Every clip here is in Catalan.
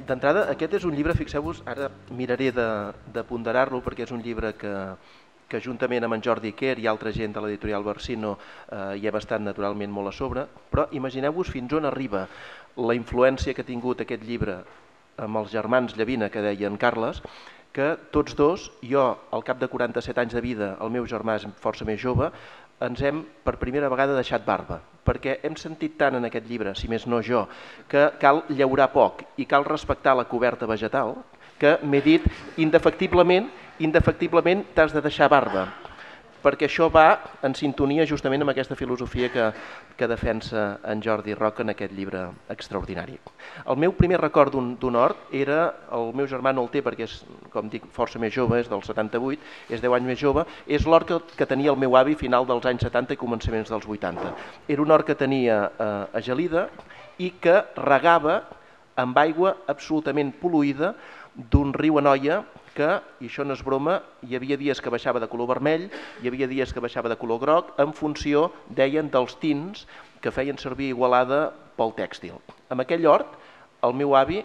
D'entrada, aquest és un llibre, fixeu-vos, ara miraré de ponderar-lo perquè és un llibre que juntament amb en Jordi Quer i altra gent de l'editorial Barsino hi hem estat naturalment molt a sobre, però imagineu-vos fins on arriba la influència que ha tingut aquest llibre amb els germans Llavina, que deia en Carles, que tots dos, jo al cap de 47 anys de vida, el meu germà és força més jove, ens hem per primera vegada deixat barba, perquè hem sentit tant en aquest llibre, si més no jo, que cal llaurar poc i cal respectar la coberta vegetal, que m'he dit indefectiblement t'has de deixar barba, perquè això va en sintonia justament amb aquesta filosofia que defensa en Jordi Roca en aquest llibre extraordinari. El meu primer record d'un hort era, el meu germà no el té perquè és, com dic, força més jove, és del 78, és 10 anys més jove, és l'hort que tenia el meu avi a final dels anys 70 i començaments dels 80. Era un hort que tenia a Gelida i que regava amb aigua absolutament pol·luïda d'un riu Anoia que, i això no és broma, hi havia dies que baixava de color vermell, hi havia dies que baixava de color groc, en funció, deien, dels tints que feien servir Igualada pel tèxtil. Amb aquell hort, el meu avi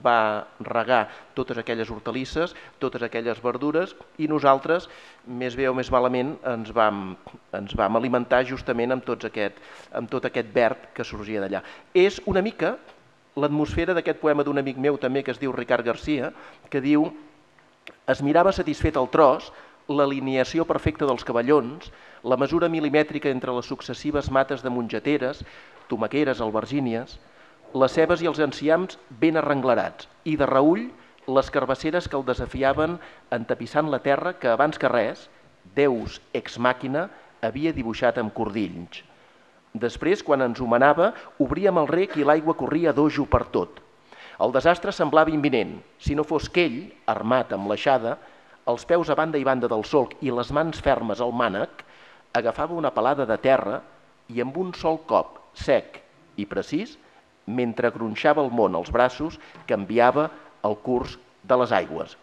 va regar totes aquelles hortalisses, totes aquelles verdures, i nosaltres, més bé o més malament, ens vam alimentar justament amb tot aquest verd que sorgia d'allà. És una mica l'atmosfera d'aquest poema d'un amic meu també que es diu Ricard Garcia, que diu: es mirava satisfet el tros, l'alineació perfecta dels cavallons, la mesura milimètrica entre les successives mates de mongeteres, tomaqueres, albergínies, les cebes i els enciams ben arrenglerats, i de reüll les carbasseres que el desafiaven entapissant la terra que abans que res, Deus ex màquina, havia dibuixat amb cordills. Després, quan ens homenava, obríem el rec i l'aigua corria dojo per tot. El desastre semblava imminent, si no fos que ell, armat amb l'aixada, els peus a banda i banda del solc i les mans fermes al mànec, agafava una palada de terra i amb un sol cop, sec i precís, mentre gronxava el món als braços, canviava el curs de les aigües.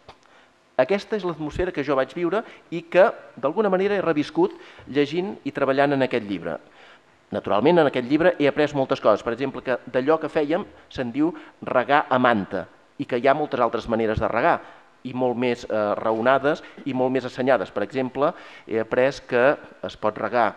Aquesta és l'atmosfera que jo vaig viure i que, d'alguna manera, he reviscut llegint i treballant en aquest llibre. Naturalment, en aquest llibre he après moltes coses. Per exemple, que d'allò que fèiem se'n diu regar a manta i que hi ha moltes altres maneres de regar i molt més raonades i molt més assenyades. Per exemple, he après que es pot regar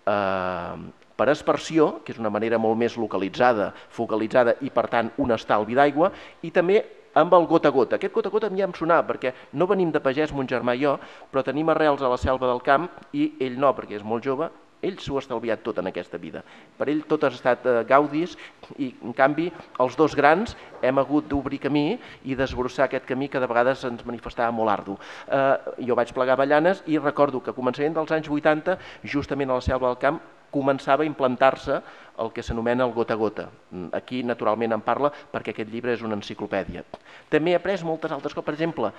per aspersió, que és una manera molt més localitzada, focalitzada i, per tant, un estalvi d'aigua, i també amb el gota a gota. Aquest gota a gota a mi ja em sonava, perquè no venim de pagès, mon germà i jo, però tenim arrels a la selva del camp i ell no, perquè és molt jove. Ell s'ho ha estalviat tot en aquesta vida. Per ell tot ha estat gaudis i, en canvi, els dos grans hem hagut d'obrir camí i desbrossar aquest camí que de vegades ens manifestava molt ardu. Jo vaig plegar avellanes i recordo que a començament dels anys 80, justament a la selva del camp, començava a implantar-se el que s'anomena el gota a gota. Aquí, naturalment, en parla perquè aquest llibre és una enciclopèdia. També he après moltes altres coses. Per exemple,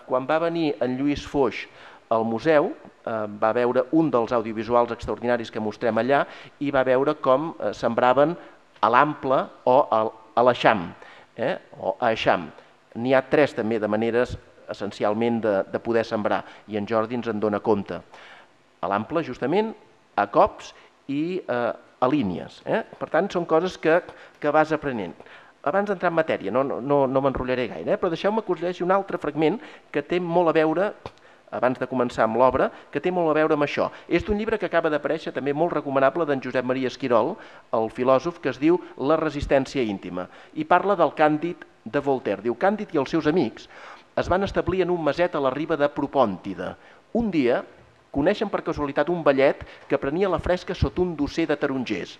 quan va venir en Lluís Foix al museu, va veure un dels audiovisuals extraordinaris que mostrem allà i va veure com sembraven a l'ample o a l'eixam, o a eixam. N'hi ha tres també de maneres essencialment de poder sembrar i en Jordi ens en dona compte. A l'ample, justament, a cops i a línies. Per tant, són coses que vas aprenent. Abans d'entrar en matèria, no m'enrotllaré gaire, però deixeu-me que us llegeixi un altre fragment que té molt a veure, abans de començar amb l'obra, que té molt a veure amb això. És d'un llibre que acaba d'aparèixer, també molt recomanable, d'en Josep Maria Esquirol, el filòsof, que es diu La resistència íntima, i parla del Càndid de Voltaire. Diu: Càndid i els seus amics es van establir en un maset a la riba de Propòntida. Un dia coneixen per casualitat un vellet que prenia la fresca sota un dosser de tarongers.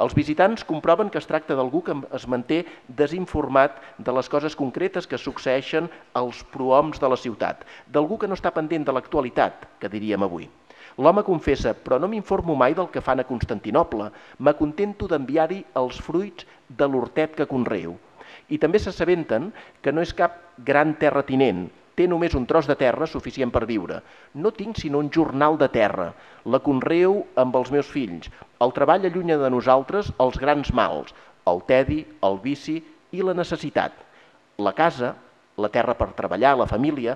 Els visitants comproven que es tracta d'algú que es manté desinformat de les coses concretes que succeeixen als prohoms de la ciutat, d'algú que no està pendent de l'actualitat, que diríem avui. L'home confessa: però no m'informo mai del que fan a Constantinoble, m'acontento d'enviar-hi els fruits de l'hortet que conreo. I també s'assabenten que no és cap gran terratinent, té només un tros de terra suficient per viure. No tinc sinó un jornal de terra, la conreo amb els meus fills. El treball allunya de nosaltres els grans mals, el tedi, el vici i la necessitat. La casa, la terra per treballar, la família.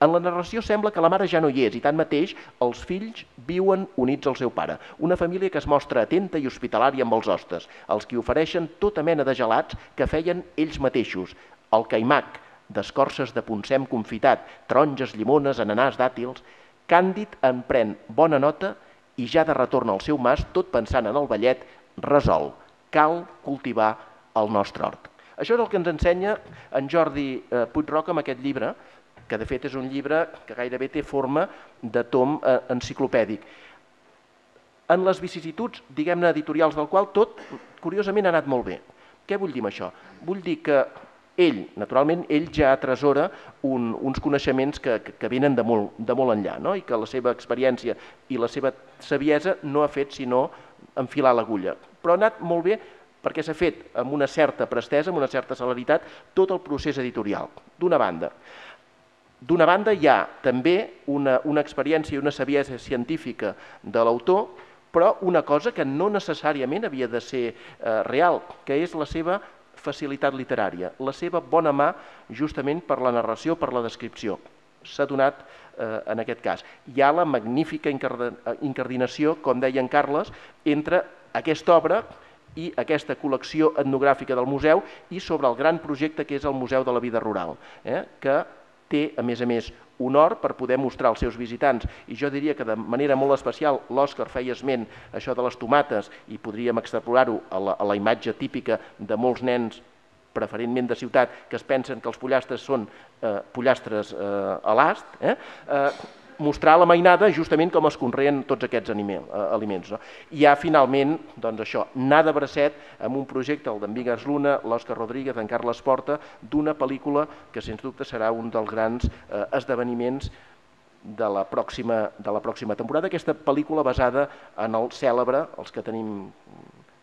En la narració sembla que la mare ja no hi és i tanmateix els fills viuen units al seu pare. Una família que es mostra atenta i hospitalària amb els hostes, els qui ofereixen tota mena de gelats que feien ells mateixos, el caimac d'escorces de poncem confitat, taronges, llimones, ananàs, dàtils, Càndid en pren bona nota i ja de retorn al seu mas, tot pensant en el ballet, resol, cal cultivar el nostre hort. Això és el que ens ensenya en Jordi Puig-roca amb aquest llibre, que de fet és un llibre que gairebé té forma de tom enciclopèdic. En les vicissituds, diguem-ne, editorials del qual tot, curiosament, ha anat molt bé. Què vull dir amb això? Vull dir que ell, naturalment, ell ja atresora uns coneixements que venen de molt enllà, no? I que la seva experiència i la seva saviesa no ha fet sinó enfilar l'agulla. Però ha anat molt bé perquè s'ha fet amb una certa prestesa, amb una certa celeritat, tot el procés editorial, d'una banda. D'una banda hi ha també una experiència i una saviesa científica de l'autor, però una cosa que no necessàriament havia de ser real, que és la seva facilitat literària, la seva bona mà justament per la narració, per la descripció. S'ha donat en aquest cas. Hi ha la magnífica incardinació, com deia en Carles, entre aquesta obra i aquesta col·lecció etnogràfica del museu i sobre el gran projecte que és el Museu de la Vida Rural, que té, a més, un hort per poder mostrar als seus visitants. I jo diria que de manera molt especial l'Òscar feia esment això de les tomates i podríem extrapolar-ho a la imatge típica de molts nens, preferentment de ciutat, que es pensen que els pollastres són pollastres a l'ast, mostrar la mainada justament com es conreen tots aquests aliments. Hi ha finalment, doncs això, anar de bracet amb un projecte, el d'en Vigas Luna, l'Òscar Rodríguez, en Carles Porta, d'una pel·lícula que sens dubte serà un dels grans esdeveniments de la pròxima temporada. Aquesta pel·lícula basada en el cèlebre, els que tenim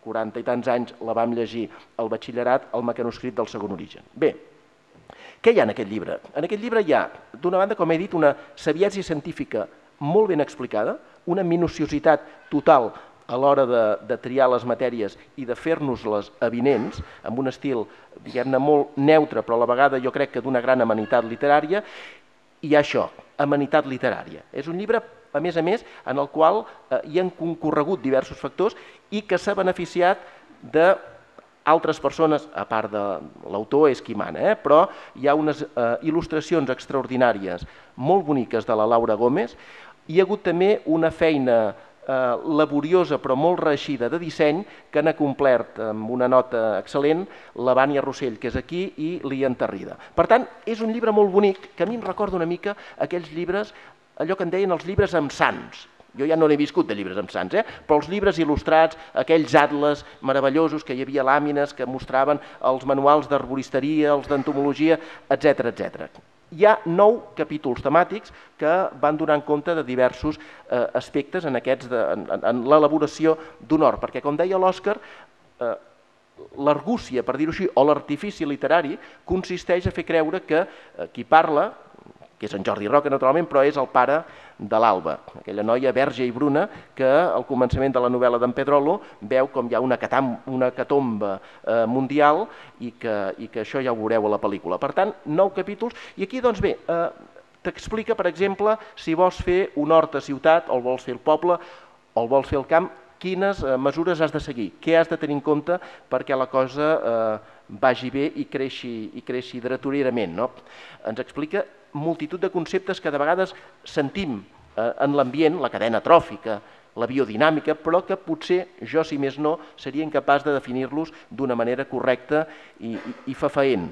40 i tants anys la vam llegir al batxillerat, el mecanoscrit del Segon Origen. Bé, què hi ha en aquest llibre? En aquest llibre hi ha, d'una banda, com he dit, una saviesa científica molt ben explicada, una minuciositat total a l'hora de triar les matèries i de fer-nos-les avinents, amb un estil, diguem-ne, molt neutre, però a la vegada jo crec que d'una gran amenitat literària. I això, amenitat literària. És un llibre, a més, en el qual hi han concorregut diversos factors i que s'ha beneficiat de altres persones, a part de l'autor és qui mana, però hi ha unes il·lustracions extraordinàries, molt boniques de la Laura Gómez. Hi ha hagut també una feina laboriosa però molt reeixida de disseny que han complert amb una nota excel·lent la Vània Rossell, que és aquí, i l'Ian Tarrida. Per tant, és un llibre molt bonic que a mi em recorda una mica aquells llibres, allò que en deien els llibres amb sants. Jo ja no n'he viscut de llibres amb sants, però els llibres il·lustrats, aquells atles meravellosos que hi havia làmines que mostraven els manuals d'arboristeria, els d'entomologia, etc. Hi ha 9 capítols temàtics que van donar compte de diversos aspectes en l'elaboració d'un hort, perquè, com deia l'Òscar, l'argúcia, per dir-ho així, o l'artifici literari consisteix a fer creure que qui parla, que és en Jordi Roca, naturalment, però és el pare de l'Alba, aquella noia verge i bruna que al començament de la novel·la d'en Pedrolo veu com hi ha una hecatombe mundial i que això ja ho veureu a la pel·lícula. Per tant, 9 capítols, i aquí, doncs bé, t'explica, per exemple, si vols fer un hort a ciutat, o el vols fer al poble, o el vols fer al camp, quines mesures has de seguir, què has de tenir en compte perquè la cosa vagi bé i creixi dretolerament. Ens explica multitud de conceptes que de vegades sentim en l'ambient, la cadena tròfica, la biodinàmica, però que potser jo, si més no, seria incapaç de definir-los d'una manera correcta i fefaent.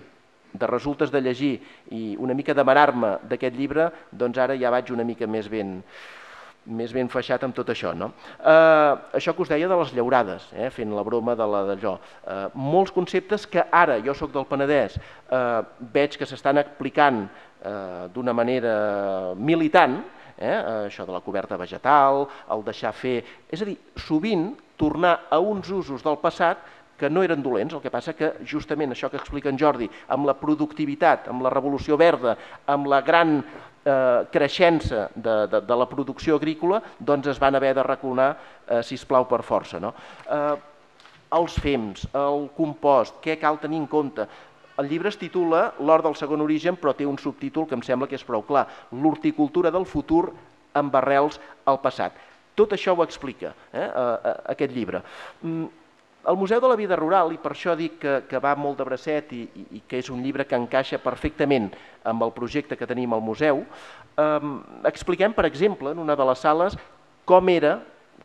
De resultes de llegir i una mica d'amarar-me d'aquest llibre, doncs ara ja vaig una mica més ben feixat amb tot això. Això que us deia de les llaurades, fent la broma d'allò. Molts conceptes que ara, jo soc del Penedès, veig que s'estan aplicant d'una manera militant, això de la coberta vegetal, el deixar fer... És a dir, sovint tornar a uns usos del passat que no eren dolents, el que passa que justament això que explica en Jordi, amb la productivitat, amb la revolució verda, amb la gran creixença de la producció agrícola, doncs es van haver de recolzar, sisplau, per força. Els fems, el compost, què cal tenir en compte? El llibre es titula L'hort del Segon Origen, però té un subtítol que em sembla que és prou clar, l'horticultura del futur amb arrels al passat. Tot això ho explica aquest llibre. El Museu de la Vida Rural, i per això dic que va molt de bracet i que és un llibre que encaixa perfectament amb el projecte que tenim al museu, expliquem, per exemple, en una de les sales, com era,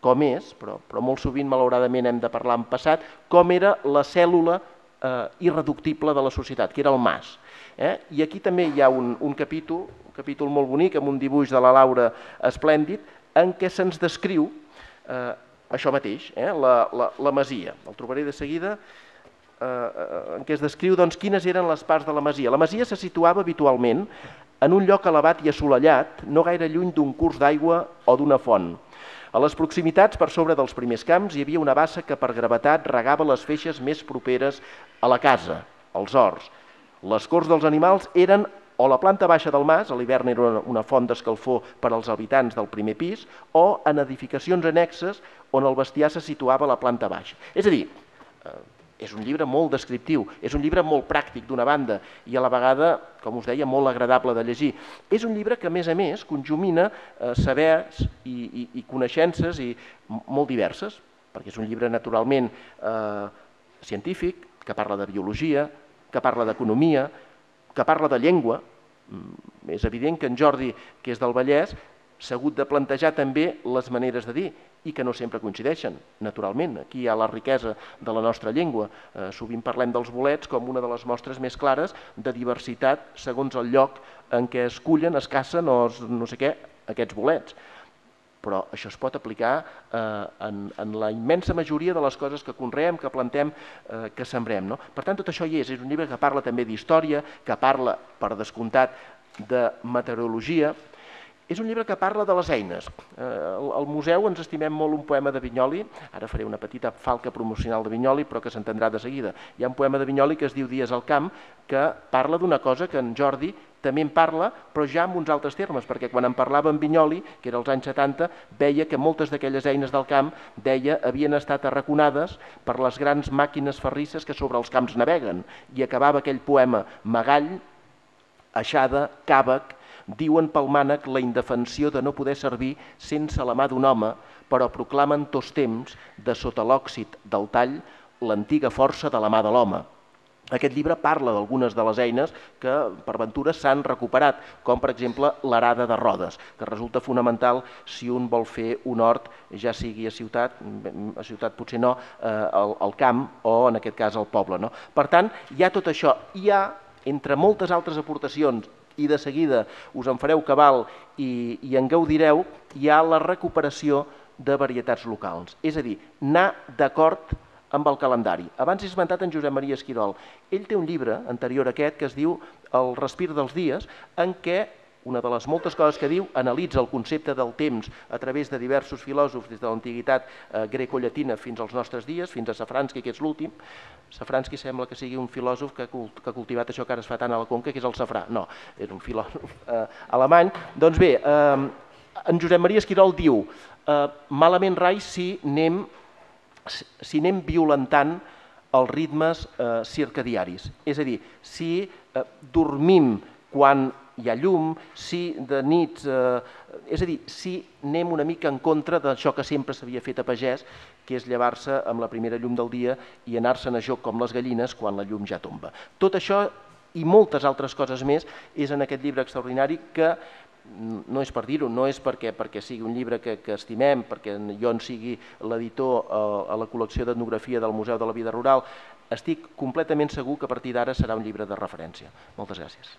com és, però molt sovint, malauradament, hem de parlar en passat, com era la cèl·lula irreductible de la societat, que era el mas. I aquí també hi ha un capítol molt bonic, amb un dibuix de la Laura esplèndid, en què se'ns descriu això mateix, la masia. El trobaré de seguida, en què es descriu quines eren les parts de la masia. La masia se situava habitualment en un lloc elevat i assolellat, no gaire lluny d'un curs d'aigua o d'una font. A les proximitats, per sobre dels primers camps, hi havia una bassa que per gravetat regava les feixes més properes a la casa, als horts. Les corts dels animals eren o la planta baixa del mas, a l'hivern era una font d'escalfor per als habitants del primer pis, o en edificacions annexes on el bestiar se situava a la planta baixa. És a dir, és un llibre molt descriptiu, és un llibre molt pràctic d'una banda i a la vegada, com us deia, molt agradable de llegir. És un llibre que, a més, conjumina sabers i coneixences molt diverses, perquè és un llibre naturalment científic, que parla de biologia, que parla d'economia, que parla de llengua. És evident que en Jordi, que és del Vallès, s'ha hagut de plantejar també les maneres de dir i que no sempre coincideixen, naturalment. Aquí hi ha la riquesa de la nostra llengua. Sovint parlem dels bolets com una de les mostres més clares de diversitat segons el lloc en què es cullen, es cacen o no sé què, aquests bolets. Però això es pot aplicar en la immensa majoria de les coses que conreem, que plantem, que sembrem. Per tant, tot això hi és. És un llibre que parla també d'història, que parla, per descomptat, de meteorologia. És un llibre que parla de les eines. Al museu ens estimem molt un poema de Vinyoli, ara faré una petita falca promocional de Vinyoli, però que s'entendrà de seguida. Hi ha un poema de Vinyoli que es diu Dies al camp, que parla d'una cosa que en Jordi també en parla, però ja amb uns altres termes, perquè quan en parlava en Vinyoli, que era als anys 70, veia que moltes d'aquelles eines del camp, deia, havien estat arraconades per les grans màquines ferrisses que sobre els camps naveguen. I acabava aquell poema: Magall, aixada, càvec, diuen pel mànec la indefensió de no poder servir sense la mà d'un home, però proclamen tots temps, de sota l'òxid del tall, l'antiga força de la mà de l'home. Aquest llibre parla d'algunes de les eines que, per ventura, s'han recuperat, com, per exemple, l'arada de rodes, que resulta fonamental si un vol fer un hort, ja sigui a ciutat potser no, al camp o, en aquest cas, al poble. Per tant, hi ha tot això. Hi ha, entre moltes altres aportacions, i de seguida us en fareu cabal i en gaudireu, hi ha la recuperació de varietats locals. És a dir, anar d'acord amb el calendari. Abans he esmentat en Josep Maria Esquirol. Ell té un llibre anterior a aquest que es diu El respir dels dies, en què una de les moltes coses que diu analitza el concepte del temps a través de diversos filòsofs des de l'antiguitat grecollatina fins als nostres dies, fins a Safransky, que és l'últim. Safransky sembla que sigui un filòsof que ha cultivat això que ara es fa tant a la Conca, que és el safrà. No, és un filòsof alemany. Doncs bé, en Josep Maria Esquirol diu malament rai si anem violentant els ritmes circadiaris. És a dir, si dormim quan hi ha llum, si de nits... És a dir, si anem una mica en contra d'això que sempre s'havia fet a pagès, que és llevar-se amb la primera llum del dia i anar-se'n a joc com les gallines quan la llum ja tomba. Tot això i moltes altres coses més és en aquest llibre extraordinari que no és per dir-ho, no és perquè sigui un llibre que estimem, perquè jo en sigui l'editor a la col·lecció d'etnografia del Museu de la Vida Rural. Estic completament segur que a partir d'ara serà un llibre de referència. Moltes gràcies.